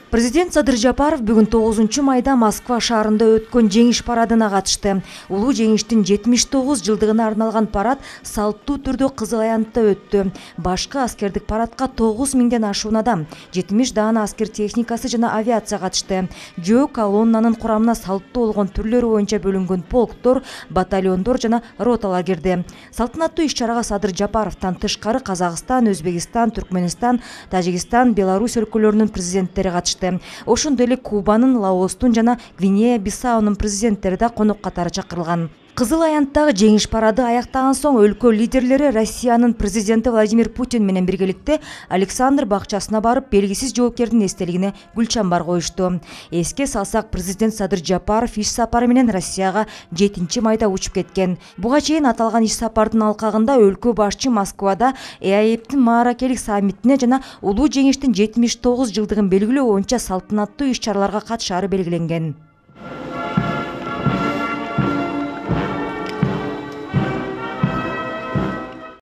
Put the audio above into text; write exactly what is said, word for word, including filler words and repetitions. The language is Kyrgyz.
Президент Садыр Жапаров бүгүн тогузунчу майда Москва шаарында өткөн жеңиш парадына катышты. Улуу жеңиштин жетимиш тогуз жылдыгына арналган парад салттуу түрдө Кызыл Аянтта өттү. Башкы аскердик парадка тогуз миңден ашуун адам, жетимиш даана аскер техникасы жана авиация катышты. Жөө колоннанын курамына салттуу болгон түрлөрү боюнча бөлүнгөн полктор, батальондор жана роталар кирди. Салтанаттуу иш-чарага Садыр Жапаровдон тышкары Казакстан, Өзбекстан, Түркмөнстан, Тажикстан, Беларусь өлкөлөрүнүн президенттери катышты. Ошондой эле Кубанын, Лаостун жана Гвинея-Бисаунун президенттери да конок катары чакырылган. Кызыл Аянттагы жеңиш парады аяктаган соң өлкө лидерлери Россиянын президенти Владимир Путин менен биргеликте Александр бакчасына барып, белгисиз жоокердин эстелигине гүл чамбар коюшту. Эске салсак, президент Садыр Жапаров иш сапары менен Россияга жетинчи майда учуп кеткен. Буга чейин аталган иш сапардын алкагында өлкө башчы Москвада ЭАЭБтин мааракелик саммитине жана улуу жеңиштин жетимиш тогуз жылдыгын белгилөө боюнча салтанаттуу иш-чараларга катышаары белгиленген.